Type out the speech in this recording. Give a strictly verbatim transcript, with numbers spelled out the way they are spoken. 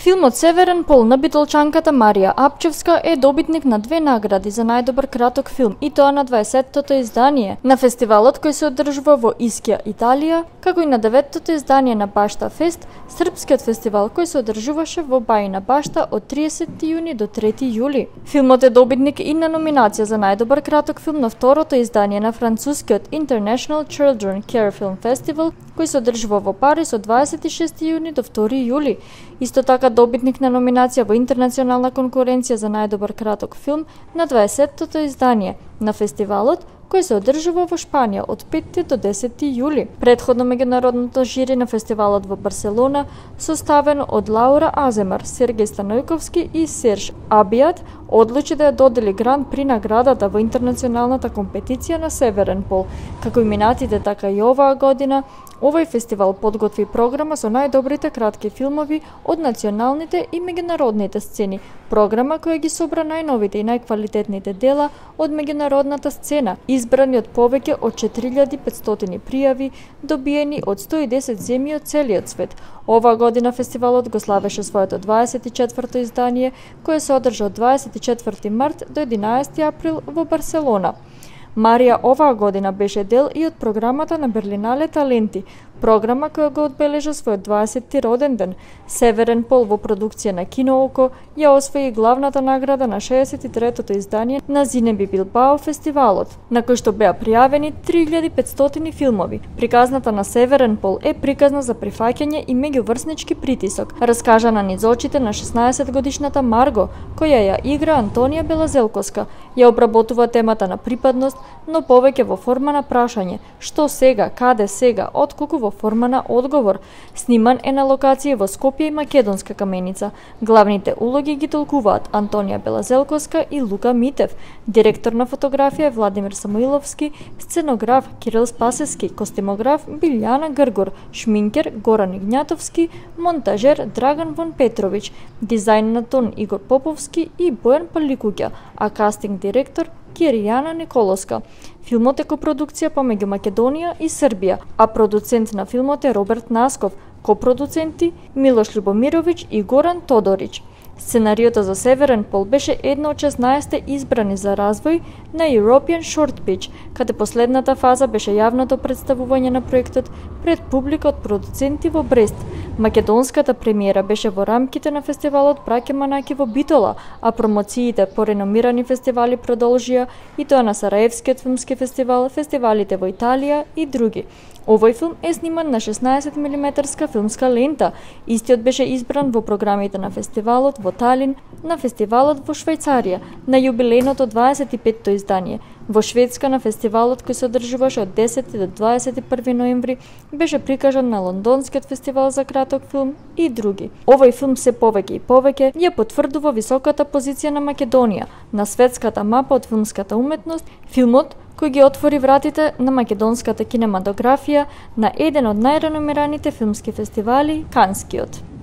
Филмот Северен пол на битолчанката Марија Апчевска е добитник на две награди за најдобар краток филм, и тоа на дваесеттото издание на фестивалот кој се одржува во Искија, Италија, како и на деветтото издание на Башта Фест, српскиот фестивал кој се одржуваше во Бајина Башта од тридесети јуни до трети јули. Филмот е добитник и на номинација за најдобар краток филм на второто издание на францускиот International Children Care Film Festival, кој се одржува во Париз од дваесет и шести јуни до втори јули. Исто така добитник на номинација во интернационална конкуренција за најдобар краток филм на дваесеттото издание на фестивалот, кој се одржува во Шпанија од петти до десети јули. Претходно меѓународното жири на фестивалот во Барселона, составено од Лаура Аземар, Сергеј Станојковски и Серж Абијат, одлучи да ја додели гран при наградата во интернационалната компетиција на Северен пол. Како и минатите, така и оваа година, овој фестивал подготви програма со најдобрите кратки филмови од националните и меѓународните сцени, програма која ги собра најновите и најквалитетните дела од меѓународната сцена, избрани од повеќе од четири илјади и петстотини пријави, добиени од сто и десет земји од целиот свет. Оваа година фестивалот го славеше своето дваесет и четврто издание, кое се одржа од дваесет и четврти март до единаесети април во Барселона. Марија оваа година беше дел и од програмата на Берлинале Таленти, програма која го одбележа својот дваесетти роден ден. Северен пол во продукција на Кинооко ја освои главната награда на шеесет и третото издание на Зинеби Билбао фестивалот, на кој што беа пријавени три илјади и петстотини филмови. Приказната на Северен пол е приказна за прифаќање и меѓуврснички притисок, раскажана низ очите на шеснаесет годишната Марго, која ја игра Антонија Белазелковска. Ја обработува темата на припадност, но повеќе во форма на прашање: што сега, каде сега, отколку во форма на одговор. Сниман е на локација во Скопје и Македонска Каменица. Главните улоги ги толкуваат Антонија Белазелковска и Лука Митев. Директор на фотографија е Владимир Самуиловски, сценограф Кирил Спасевски, костимограф Билјана Гргор, шминкер Горан Игњатовски, монтажер Драган Вон Петровиќ, дизајн на тон Игор Поповски и Бојан Паликуќа, а кастинг директор Киријана Николоска. Филмот е копродукција помеѓу Македонија и Србија, а продуцент на филмот е Роберт Насков, копродуценти Милош Љубомировиќ и Горан Тодорич. Сценариото за Северен пол беше едно од шеснаесетте избрани за развој на European Short Pitch, каде последната фаза беше јавното представување на проектот пред публика од продуценти во Брест. Македонската премиера беше во рамките на фестивалот Браќа Манаки во Битола, а промоциите по реномирани фестивали продолжија, и тоа на Сараевскиот филмски фестивал, фестивалите во Италија и други. Овој филм е сниман на шеснаесет милиметарска филмска лента. Истиот беше избран во програмите на фестивалот во Талин, на фестивалот во Швајцарија, на јубилејното дваесет и петто издание. Во Шведска на фестивалот кој се одржуваше од десети до дваесет и први ноември беше прикажан на Лондонскиот фестивал за краток филм и други. Овој филм се повеќе и повеќе ја потврдува високата позиција на Македонија на светската мапа од филмската уметност. Филмот кој ги отвори вратите на македонската кинематографија на еден од најреномираните филмски фестивали, Канскиот.